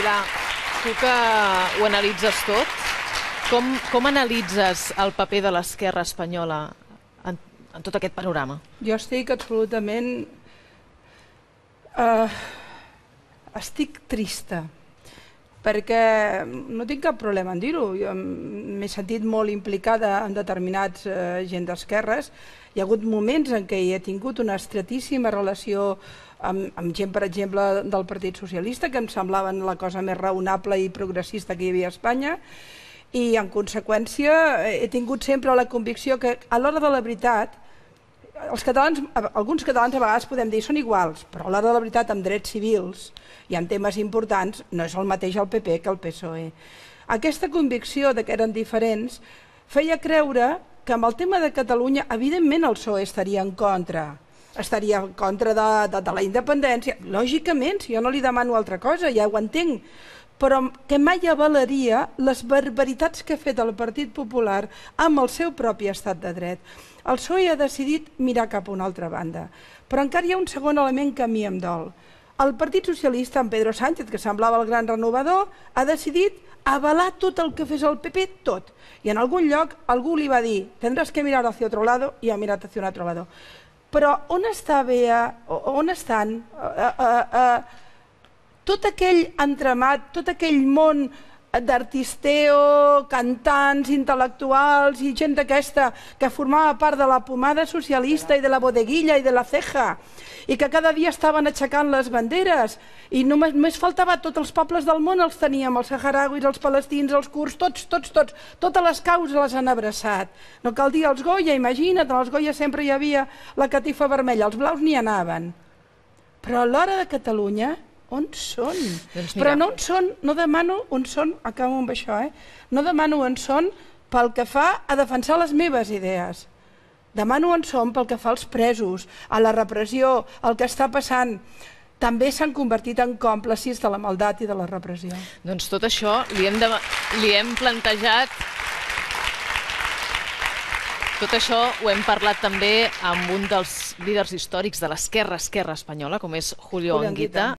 Pilar, tu que ho analitzes tot, com analitzes el paper de l'esquerra espanyola en tot aquest panorama? Jo estic absolutament... estic trista, perquè no tinc cap problema en dir-ho. Jo m'he sentit molt implicada en determinats gent d'esquerres. Hi ha hagut moments en què hi he tingut una estretíssima relació amb gent, per exemple, del Partit Socialista, que em semblaven la cosa més raonable i progressista que hi havia a Espanya, i en conseqüència he tingut sempre la convicció que a l'hora de la veritat els catalans, alguns catalans a vegades podem dir són iguals, però a l'hora de la veritat amb drets civils i en temes importants no és el mateix el PP que el PSOE. Aquesta convicció de que eren diferents feia creure que amb el tema de Catalunya evidentment el PSOE estaria en contra de la independència, lògicament, si jo no li demano altra cosa, ja ho entenc, però que mai avalaria les barbaritats que ha fet el Partit Popular amb el seu propi estat de dret. El PSOE ha decidit mirar cap a una altra banda, però encara hi ha un segon element que a mi em dol. El Partit Socialista, en Pedro Sánchez, que semblava el gran renovador, ha decidit avalar tot el que fes el PP, tot. I en algun lloc algú li va dir tendrás que mirar hacia otro lado, i ha mirat hacia un altre lado. Però on està Bea, on estan tot aquell entramat, tot aquell món d'artisteo, cantants, intel·lectuals i gent d'aquesta que formava part de la pomada socialista i de la bodeguilla i de la ceja i que cada dia estaven aixecant les banderes i només faltava tots els pobles del món els teníem, els saharauis, els palestins, els kurds, totes les causes les han abraçat. No cal dir els Goya, imagina't, als Goya sempre hi havia la catifa vermella, els blaus n'hi anaven. Però a l'hora de Catalunya on són? Però no on són, no demano on són, acabo amb això, no demano on són pel que fa a defensar les meves idees. Demano on són pel que fa als presos, a la repressió, el que està passant. També s'han convertit en còmplices de la maldat i de la repressió. Doncs tot això li hem plantejat. Tot això ho hem parlat també amb un dels líders històrics de l'esquerra espanyola, com és Julio Anguita.